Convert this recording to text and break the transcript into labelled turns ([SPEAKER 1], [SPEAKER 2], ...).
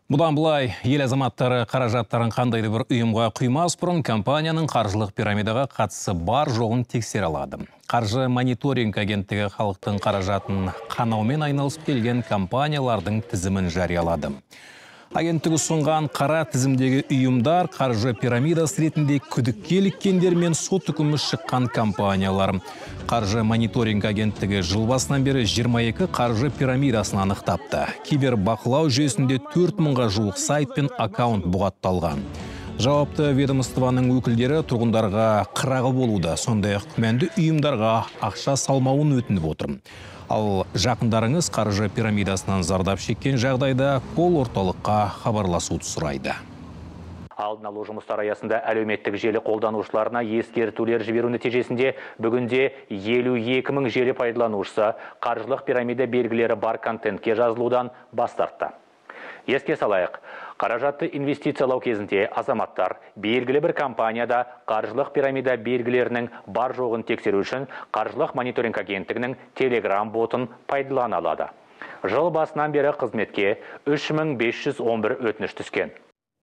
[SPEAKER 1] Бұдан бұлай, ел азаматтары қаражаттарын қандайды бір ұйымға құймас бұрын компанияның қаржылық пирамидаға қатысы бар жоғын тексере алады. Қаржы мониторинг агенттігі халықтың қаражатын қанаумен айналысып келген компаниялардың тізімін жариялады. Агенттігі ұсынған қара тізімдегі ұйымдар қаржы пирамидасы ретінде күдікке іліккендер мен сот үкімі шыққан компаниялар. Қаржы мониторинг агенттігі жыл басынан бері 22 қаржы пирамидасын анықтапты. Кибербақылау жүйесінде 4000-ға жуық сайт пен аккаунт бұғатталған. Жауапты ведомствоның өкілдері тұрғындарға қырағы болуды, сондай-ақ күмәнді ұйымдарға ақша салмауын өтініп отыр. Ал жақындарыңыз қаржы пирамидасынан зардап шеккен жағдайда кол орталыққа хабарласуды сұрайды.
[SPEAKER 2] Алдын алу жұмыстары аясында әлеуметтік желі қолданушыларына ескертулер жіберу нәтижесінде бүгінде 52 мың желі пайдаланушысы қаржылық пирамида белгілері бар контентке жазылудан бас тартты. Еске салайық, қаражатты инвестициялау кезінде азаматтар белгілі бір компанияда қаржылық пирамида белгілерінің бар жоғын тексеру үшін қаржылық мониторинг агенттігінің Telegram ботын пайдалана алады. Жыл басынан бері қызметке 3511 өтініш түскен.